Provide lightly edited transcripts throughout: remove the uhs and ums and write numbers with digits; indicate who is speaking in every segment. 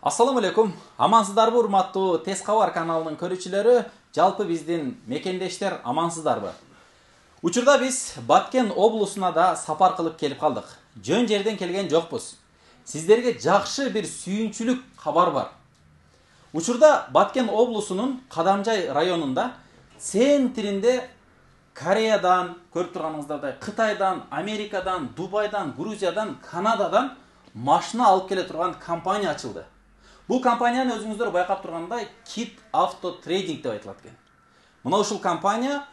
Speaker 1: Ассаламу алейкум. Амансыздарбы, урматтуу Тез кабар каналынын көрүүчүлөрү, жалпы биздин мекендештер амансыздарбы? Учурда биз Баткен облусуна да сапар кылып келип калдык. Жөн жерден келген жокпуз. Сиздерге жакшы бир сүйүнчүлүк кабар бар. Учурда Баткен облусунун Кадамжай районунда центринде Кореядан, көрүп турганыңыздардай, Кытайдан, Америкадан, Дубайдан, Грузиядан, Канададан машина алып келе турган компания ачылды. Бул компанияны өзүңүздөр байкап тургандай Kit Auto Trading деп айтылат экен. Мына ушул компания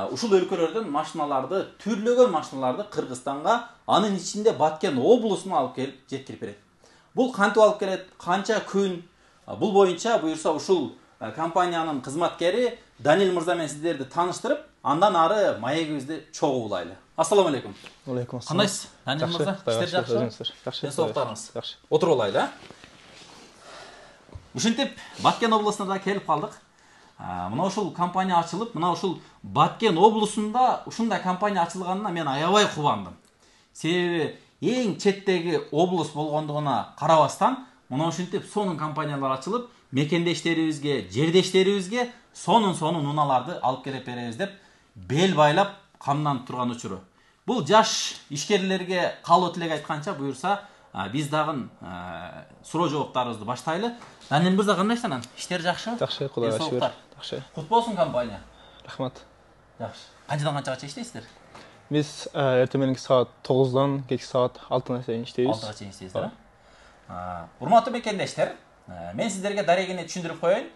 Speaker 1: ушул өлкөлөрдөн машиналарды, түрлөгөн машиналарды Кыргызстанга, анын ичинде Баткен облусуна алып келип жеткирип берет. Бул кантип алып келет, канча күн, бул боюнча буюрса ушул компаниянын кызматкери Данил мырза менен сиздерди тааныштырып, андан ары маегибизди чогуу улайлы. Ассаламу алейкум.
Speaker 2: Алейкум ассалам.
Speaker 1: Кандайсыз? Данил мырза, иштер жакшыбы?
Speaker 2: Жакшы.
Speaker 1: Денсаулыктарыңыз?
Speaker 2: Жакшы.
Speaker 1: Отуруп алайлы, Ушинтип Баткен облусуна да келип калдык. Мына ушул компания ачылып, мына ушул Баткен облусунда ушундай компания ачылганына мен аябай кубандым. Себеби эң четтеги облус болгондугуна карабастан, мына ушинтип сонун компаниялар ачылып, мекендештерибизге, жердештерибизге сонун унааларды алып келип беребиз деп бел байлап камданып турган учуру. Бул жаш ишкерлерге калуу тилек айтканча буюрса, биз дагы суроо жооптарыбызды баштайлы. Данил мырза, кандайсыз анан? Иштер жакшыбы?
Speaker 2: Жакшы, Кудайга шүгүр. Жакшы.
Speaker 1: Кут болсун компания.
Speaker 2: Рахмат.
Speaker 1: Жакшы. Канчадан канчага иштейсиздер?
Speaker 2: Биз эртең мененки саат 9-дан кечки саат 6-на чейин иштейбиз.
Speaker 1: 6-га чейин иштейсиздер, Урматтуу мекендештер, мен сиздерге дарегине түшүндүрүп коеюн.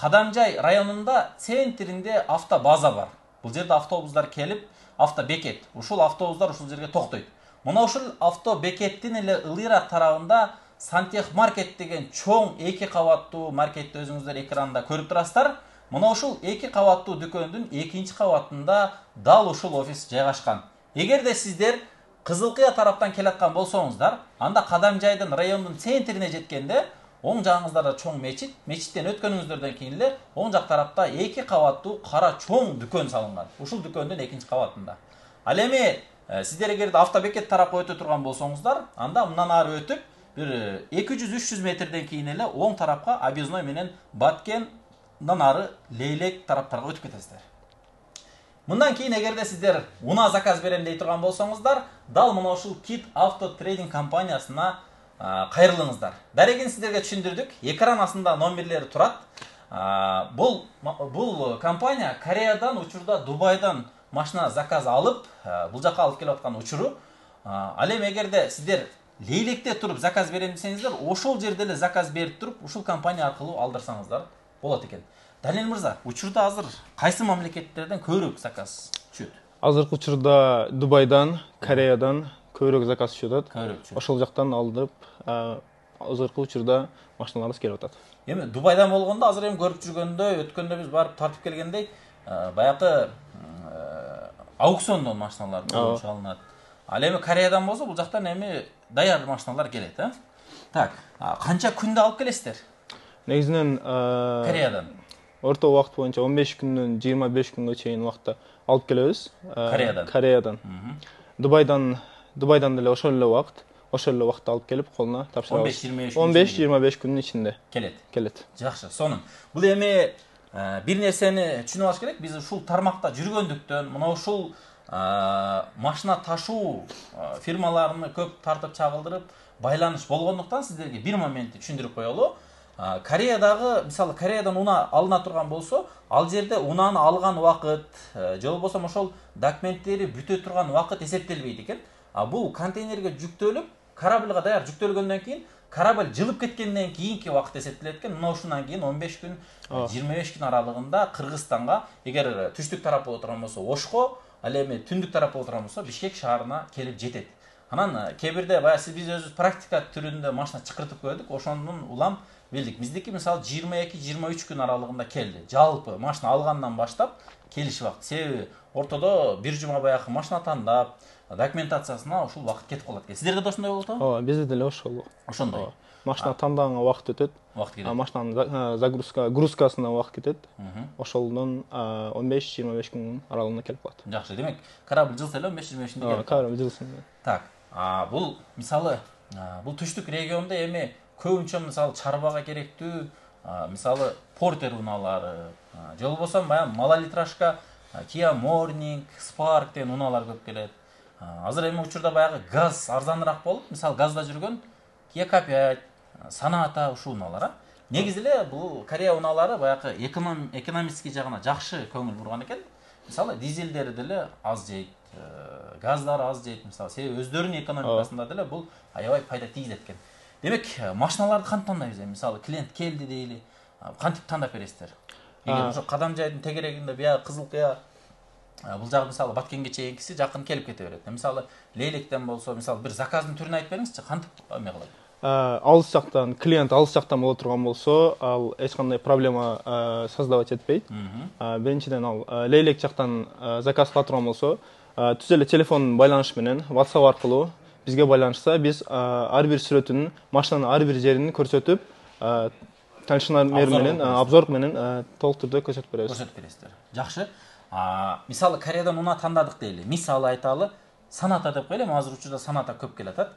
Speaker 1: Кадамжай районунда центринде автобаза бар. Бул жерде автобустар келип, автобекет. Ушул автобустар ушул жерге токтойт. Мына ушул автобекеттин эле ылыйраак тарабында Сантехмаркет деген чоң 2 кабаттуу маркетти өзүңүздөр экранда көрүп турасыздар. Мына ушул 2 кабаттуу дүкөндүн 2-нчи кабатында дал ушул офис жайгашкан. Эгерде сиздер Кызылкыя тараптан келаткан болсоңуздар, анда Кадамжайдын райондун центрине жеткенде оң жагыңыздарда чоң мечит, мечиттен өткөнүңүздөрдөн кийин эле оң жак тарапта 2 кабаттуу кара чоң дүкөн салынган. Ушул дүкөндүн 2-нчи кабатында. Ал эми сиздер эгерде автобекет тарапка өтө турган болсоңуздар, анда мындан ары өтүп, бир 200-300 метрден кийин эле оң тарапка Объездной менен Баткендан ары Лейлек тараптарга өтүп кетесиздер. Мындан кийин эгерде сиздер унаа заказ берем дей турган болсоңуздар, дал мына ушул Kit Auto Trading компаниясына кайрылыңыздар. Дарегин сиздерге түшүндүрдүк. Экран астында номерлери турат. Бул компания Кореядан, учурда Дубайдан машина заказ алып, бул жака алып келип аткан учуру. Ал эми эгерде сиздер Лейлекте туруп заказ берем десеңиздер, ошол жерде эле заказ берип туруп, ушул компания аркылуу алдырсаңыздар болот экен. Данил мырза, учурда азыр кайсы мамлекеттерден көбүрөөк заказ түшөт?
Speaker 2: Азыркы учурда Дубайдан, Кореядан көбүрөөк заказ түшүп атат.
Speaker 1: Көбүрөөк.
Speaker 2: Ошол жактан алдырып, азыркы учурда машиналарыбыз келип атат.
Speaker 1: Эми Дубайдан болгондо азыр эми көрүп жүргөндө, өткөндө биз барып тартып келгендей, баягы аукциондон машиналар болуп алынат. Ал эми Кореядан болсо, бул жактан эми даяр машиналар келет, Так, канча күндө алып келесиздер?
Speaker 2: Негизинен
Speaker 1: Кореядан.
Speaker 2: Орто убакыт боюнча 15 күндөн 25 күнгө чейин убакытта алып келебиз. Кореядан. Дубайдан деле ошол эле убакытта алып келип колуна тапшырабыз. 15-25 күндүн ичинде келет.
Speaker 1: Жакшы, сонун. Бул эми бир нерсени түшүнүп алыш керек. Биз ушул тармакта жүргөндүктөн, мына ушул машина ташуу фирмаларына көп тартып чагылдырып, байланыш болгондуктан сиздерге бир моментти түшүндүрүп коелу. Кореядагы, мисалы, Кореядан унаа алына турган болсо, ал жерде унааны алган убакыт, же болбосо ошол документтери бүтө турган убакыт эсептелбейт экен. Бул контейнерге жүктөлүп, корабльга даяр жүктөлгөндөн кийин, корабль жылып кеткенден кийинки убакыт эсептелет экен. Мына ушундан кийин 15 күн, 25 күн аралыгында Кыргызстанга, эгер түштүк тарап боло турган болсо, Ошко, ал эми түндүк тарап боло турган болсо, Бишкек шаарына келип жетет. Анан кээ-бирде биз өзүбүз практика түрүндө машина чакыртып көрдүк, ошондон улам билдик. Биздики мисалы 22-23 күн аралыгында келди. Жалпы машина алгандан баштап келиш убакыт. Себеби ортодо бир жума баягы машина тандап, документациясына ушул убакыт кетип калат экен. Сиздерде да ошондой болот го?
Speaker 2: Ооба, бизде деле ошол.
Speaker 1: Ошондой.
Speaker 2: Машина тандаганга убакыт өтөт. Машинанын загрузкасына убакыт кетет. Ошолдон 15-25 күн аралыгында келип калат.
Speaker 1: Жакшы, демек корабль жылса эле 15-25 күндө келет.
Speaker 2: Корабль жылсын.
Speaker 1: Так, бул мисалы бул түштүк региондо эми көбүнчө мисалы чарбага керектүү мисалы Портер унаалары же болбосо баягы малолитражка Kia Morning, Spark деген унаалар көп келет. Азыр эми учурда баягы газ арзаныраак болуп, мисалы газда жүргөн Kia K5, Sonata ушул унаалар. Негизи эле бул Корея унаалары баягы экономический жагына жакшы көңүл бурган экен. Мисалы дизелдери деле аз жейт, газдары аз жейт, мисалы себеби өздөрүнүн экономикасында деле бул аябай пайда тийгизет экен. Демек, машиналарды кантип тандайбыз? Мисалы клиент келди дейли, кантип тандап бересиздер? Эгер ошо Кадамжайдын тегерегинде бияга Кызылкыя бул жагы мисалы Баткенге чейинкиси жакын келип кете берет. Мисалы Лейлектен болсо, мисалы бир заказдын түрүн айтып бериңизчи, кантип эме кылат?
Speaker 2: Алыс жактан, клиент алыс жактан боло турган болсо, ал эч кандай проблема создавать этпейт. Биринчиден ал Лейлек жактан заказ кыла турган болсо, түз эле телефон байланыш менен WhatsApp аркылуу бизге байланышса, биз ар бир сүрөтүнүн, машинанын ар бир жерин көрсөтүп, танышмар менен, обзор менен толук түрдө көрсөтүп беребиз.
Speaker 1: Көрсөтүп бересиздер. Жакшы. Мисалы Кореядан унаа тандадык дейли. Мисалы айталы, Sonata деп коелу, азыр учурда Sonata көп келатат.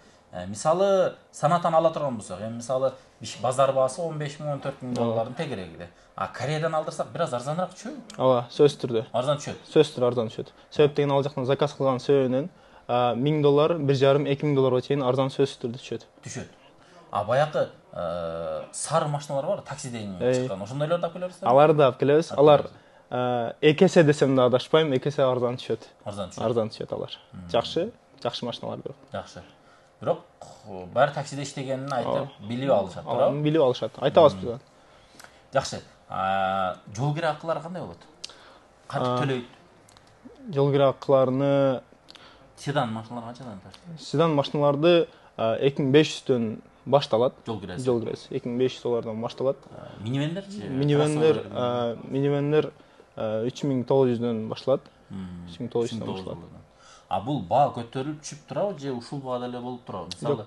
Speaker 1: Мисалы Sonatаны ала турган болсок, мисалы базар баасы 15 000, 14 000 доллардын тегерегиде. Кореядан алдырсак бир аз арзаныраак түшөбү?
Speaker 2: Ооба, сөзсүз түрдө.
Speaker 1: Арзан түшөт.
Speaker 2: Сөзсүз түрдө арзан түшөт. Себеп деген ал жактан заказ кылган себебинен $1000, $1,5-2,000 чейин арзан сөзсүз түрдө түшөт.
Speaker 1: Түшөт. Баягы сары машиналар бар, таксиден чыккан. Ошондойлорду алып келебизби?
Speaker 2: Аларды алып келебиз. Алар экесе десем да адашпайм, экесе арзан түшөт. Арзан түшөт алар. Жакшы машиналар бирок.
Speaker 1: Жакшы. Бирок баары таксиде иштегенин айтып, билип алышат, туурабы?
Speaker 2: Билип алышат. Айтабыз биз.
Speaker 1: Жакшы. Жол кире акылары кандай болот? Кантип төлөйт?
Speaker 2: Жол кире акыларыны
Speaker 1: седан машиналар канчадан турат?
Speaker 2: Седан машиналарды 2500дөн башталат.
Speaker 1: Жол киреси.
Speaker 2: $2500 башталат.
Speaker 1: Минивендерчи?
Speaker 2: Минивендер 3900дөн башталат. 3900дөн башталат.
Speaker 1: Бул баа көтөрүлүп түшүп турабы же ушул баада эле болуп турабы? Мисалы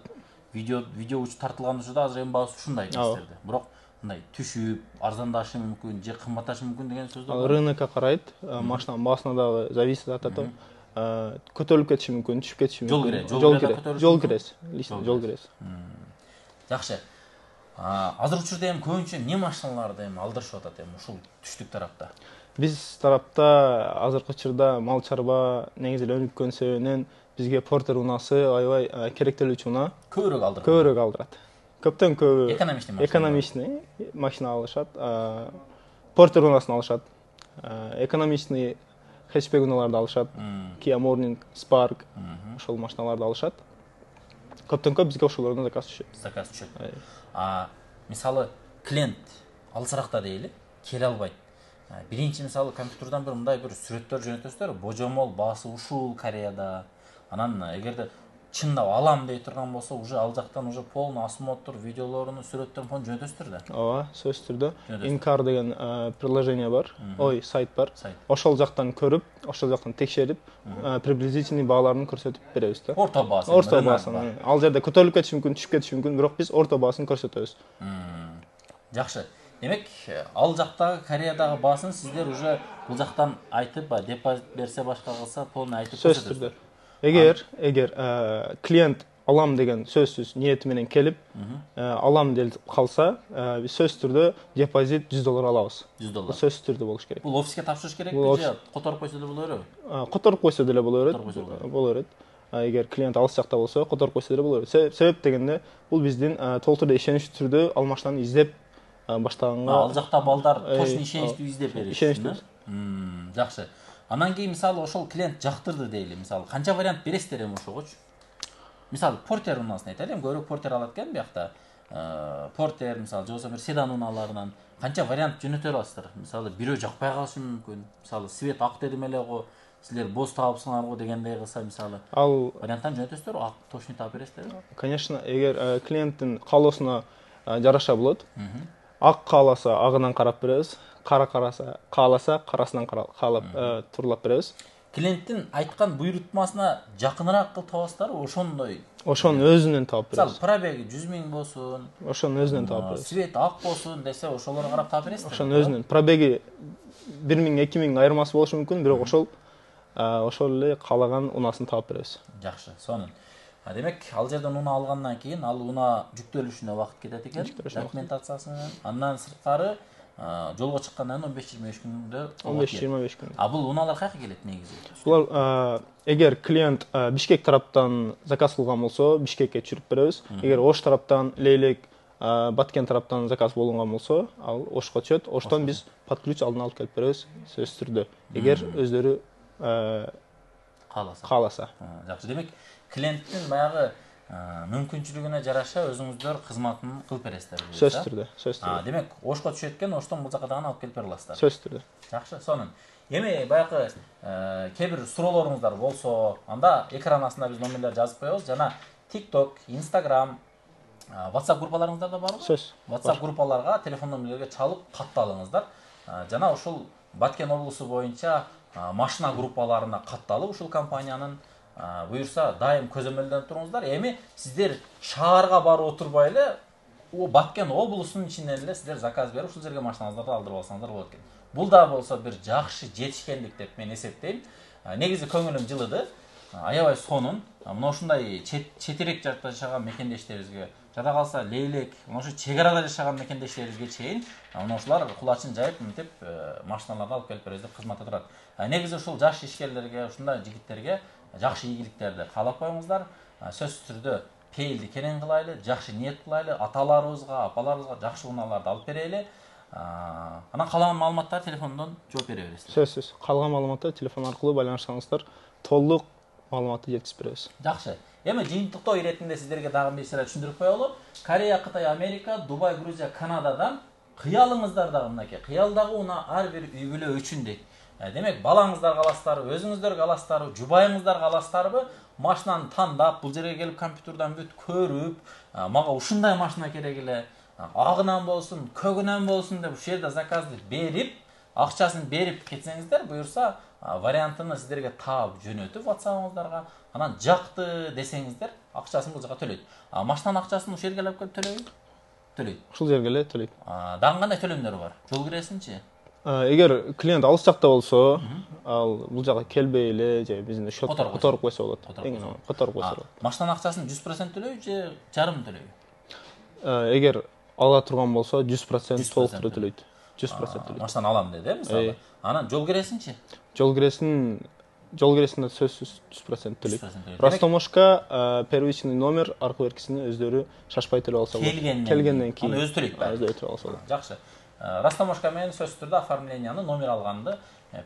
Speaker 1: видео тартылган учурда азыр эми баасы ушундай дестерди. Бирок мындай түшүп, арзандашы мүмкүн же кымбатташы мүмкүн деген сөз бар.
Speaker 2: Рынокко карайт, машинанын баасына дагы зависит атат. Көтөрүлүп кетиши мүмкүн, түшүп кетиши мүмкүн. Жол кирес.
Speaker 1: Жакшы. Азыр учурда эми көбүнчө эмне машиналарды эми алдырышып атат эми ушул түштүк тарапта?
Speaker 2: Биз тарапта азыркы учурда мал чарба негизи эле өнүккөн себебинен бизге Портер унаасы аябай керектелүүчү унаа. Көбүрөөк алдырат. Көптөн көбү экономичный машина алышат. Портер унаасын алышат. Экономичный хэтчбек унааларды алышат. Kia Morning, Spark ошол машиналарды алышат. Көптөн көп бизге ошолордон заказ түшөт.
Speaker 1: Мисалы клиент алысыракта дейли, келе албайт. Биринчи мисалы компьютерден бир мындай бир сүрөттөр жөнөтөсүздөр, божомол баасы ушул Кореяда. Анан эгерде чындап алам дей турган болсо, уже ал жактан уже полный осмотр, видеолорун, сүрөттөрүн фон жөнөтөсүздөр да.
Speaker 2: Ооба, сөзсүз түрдө. Incar деген приложение бар, сайт бар. Ошол жактан көрүп, ошол жактан текшерип, приблизительный бааларын көрсөтүп беребиз да.
Speaker 1: Орто баасын.
Speaker 2: Ал жерде көтөрүлүп кетиши мүмкүн, түшүп кетиши мүмкүн, бирок биз орто баасын көрсөтөбүз.
Speaker 1: Жакшы. Демек, ал жактагы Кореядагы баасын сиздер уже бул жактан айтып, депозит берсе башка кылса, полный айтып көрсөтөсүздөр.
Speaker 2: Эгер клиент алам деген сөзсүз ниети менен келип, алам деп калса, биз сөзсүз түрдө депозит $100 алабыз.
Speaker 1: $100.
Speaker 2: Сөзсүз түрдө болуш керек.
Speaker 1: Бул офиске тапшырыш керекпи же которуп койсо деле боло береби?
Speaker 2: Которуп койсо деле боло берет. Эгер клиент алыс жакта болсо, которуп койсо деле боло берет. Себеп дегенде, бул биздин толук түрдө ишеничтүү түрдө ал машинаны издеп баштаганга.
Speaker 1: Ал жакта балдар точно ишеничтүү издеп берет. Жакшы. Анан кийин мисалы ошол клиент жактырды дейли. Мисалы канча вариант бересиздер эми ошогочу? Мисалы Портер унаасын айтайлы, көбүрөөк Портер алат экен биякта. Портер мисалы же болбосо бир седан унааларынан канча вариант жөнөтө аласыздар? Мисалы бирөө жакпай калышы мүмкүн. Мисалы свет ак дедим эле го, силер боз таапсыңар го дегендей кылса мисалы. Ал варианттан жөнөтөсүздөр, ак точно таап бересиздерби?
Speaker 2: Конечно, эгер клиенттин каалоосуна жараша болот. Ак кааласа агынан карап беребиз. Кара кааласа карасынан каалап турлап беребиз.
Speaker 1: Клиенттин айткан буйрутмасына жакыныраак кылып табасыздарбы?
Speaker 2: Ошонун өзүнөн таап беребиз.
Speaker 1: Мисалы пробеги 100 000 болсун,
Speaker 2: ошонун өзүнөн таап беребиз.
Speaker 1: Свет ак болсун десе, ошолорго карап таап бересиздер.
Speaker 2: Ошонун өзүнөн пробеги 1000-2000 айырмасы болушу мүмкүн, бирок ошол эле каалаган унаасын таап беребиз.
Speaker 1: Жакшы, сонун. Демек ал жерден унаа алгандан кийин ал унаа жүктөлүшүнө убакыт кетет экен, документациясы менен. Андан сырткары жолго чыккандан кийин 15-25 күндө
Speaker 2: 15-25 күн.
Speaker 1: Бул унаалар каяка келет негизи?
Speaker 2: Булар эгер клиент Бишкек тараптан заказ кылган болсо, Бишкекке түшүрүп беребиз. Эгер Ош тараптан, Лейлек, Баткен тараптан заказ болгон болсо, ал Ошко түшөт. Оштон биз под ключ алдын алып келип беребиз, сөзсүз түрдө. Эгер өздөрү кааласа.
Speaker 1: Жакшы. Демек, клиенттин баягы мүмкүнчүлүгүнө жараша өзүңүздөр кызматын кылып бересиздер.
Speaker 2: Сөзсүз түрдө, сөзсүз түрдө.
Speaker 1: Демек, Ошко түшөт экен, Оштон бул жака дагы алып келип бере аласыздар.
Speaker 2: Сөзсүз түрдө.
Speaker 1: Жакшы, сонун. Эми баягы кээ бир суроолоруңуздар болсо, анда экран астына биз номерлерди жазып коебуз. Жана TikTok, Instagram, WhatsApp группаларыңыздар да барбы?
Speaker 2: Сөз.
Speaker 1: WhatsApp группаларга телефон номерлерге чалып катталыңыздар. Жана ушул Баткен облусу боюнча машина группаларына катталып ушул компаниянын буюрса дайым көзөмөлдөнүп туруңуздар. Эми сиздер шаарга барып отурбай эле Баткен облусунун ичинен эле сиздер заказ берип ушул жерге машинаңыздарды алдырып алсаңыздар болот экен. Бул да болсо бир жакшы жетишкендик деп мен эсептейм. Негизи көңүлүм жылыды. Аябай сонун. Мына ушундай четирек жашаган мекендештерибизге, жада калса Лейлек, мына ушу чек арада жашаган мекендештерибизге чейин мына ушулар кулачын жайып мынтип машиналарды алып келип беребиз деп кызматта турат. Негизи ушул жаш ишкерлерге, ушундай жигиттерге жакшы ийгиликтерди каалап коюңуздар. Сөзсүз түрдө пейилди кенен кылайлы, жакшы ниет кылайлы, аталарыбызга, апаларыбызга жакшы унааларды алып берели. Анан калаган маалыматтар телефондон жооп бере бересиз.
Speaker 2: Сөзсүз. Калган маалыматты телефон аркылуу байланышсаңыздар, толук маалыматты жеткизип беребиз.
Speaker 1: Жакшы. Эми жыйынтыктоо иретинде сиздерге дагы бир нерсе түшүндүрүп коелу. Корея, Кытай, Америка, Дубай, Грузия, Канададан кыялыңыздар дагы мынакей. Кыялдагы унаа ар бир үй бүлө үчүн дейт. Демек, балаңыздар каласыздарбы, өзүңүздөр каласыздарбы, жубайыңыздар каласыздарбы, машинаны тандап, бул жерге келип компьютерден бүт көрүп, мага ушундай машина керек эле, агынан болсун, көгүнөн болсун деп ушул жерде заказды берип, акчасын берип кетсеңиздер, буюрса вариантын сиздерге таап жөнөтүп WhatsApp-ыңыздарга, анан жакты десеңиздер, акчасын бул жака төлөйт. Машинанын акчасын ушул жерге алып келип төлөйбү? Төлөйт.
Speaker 2: Ушул жерге эле төлөйт.
Speaker 1: Дагы кандай төлөмдөр бар? Жол киресинчи?
Speaker 2: Эгер клиент алыс жакта болсо, ал бул жака келбей эле же биздин счетко которуп койсо болот. Которуп койсо болот.
Speaker 1: Машинанын акчасын 100% төлөйбү же жарым төлөйбү?
Speaker 2: Эгер ала турган болсо 100% толук түрдө төлөйт. 100% төлөйт.
Speaker 1: Машинаны алам деди, мисалы. Анан жол киресинчи?
Speaker 2: Жол киресин сөзсүз 100% төлөйт. Растомошка первичный номер аркы беркисини өздөрү шашпай төлөп алса болот. Келгенден кийин.
Speaker 1: Аны өзү төлөйт ба?
Speaker 2: Өзү төлөп алса болот.
Speaker 1: Жакшы. Растомошка менен сөзсүз түрдө оформленияны, номер алганды,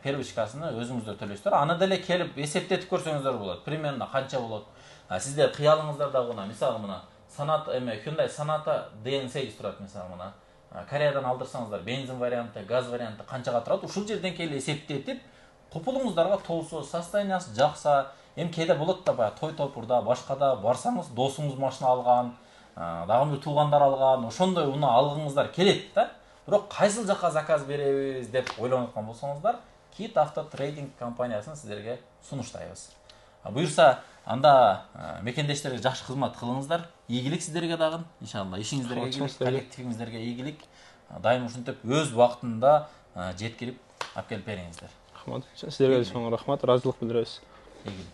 Speaker 1: первичкасыны өзүңүздөр төлөйсүздөр. Аны деле келип эсептетип көрсөңүздөр болот. Примерно канча болот? Сиздер кыялыңыздарда мына, мисалы мына Sonata Hyundai Sonata DN8 турат, мисалы мына. Кореядан алдырсаңыздар, бензин варианты, газ варианты канчага турат? Ушул жерден келип эсептетип, купулуңуздарга толсо, состояниясы жакса, эми кээде болот да баягы той топурда, башкада барсаңыз, досуңуз машина алган, дагы бир туугандар алган, ошондой унаа алгыңыздар келет да. Бирок кайсыл жака заказ беребиз деп ойлонуп аткан болсоңуздар, Kit Auto Trading компаниясын сиздерге сунуштайбыз. Буюрса, анда мекендештерге жакшы кызмат кылыңыздар. Ийгилик сиздерге дагы, иншалла. Ишиңиздерге ийгилик, коллективиңиздерге ийгилик. Дайым ушинтип өз убактында жеткирип алып келип бериңиздер.
Speaker 2: Рахмат. Сиздерге чоң рахмат, ыраазылык билдиребиз.
Speaker 1: Ийгилик.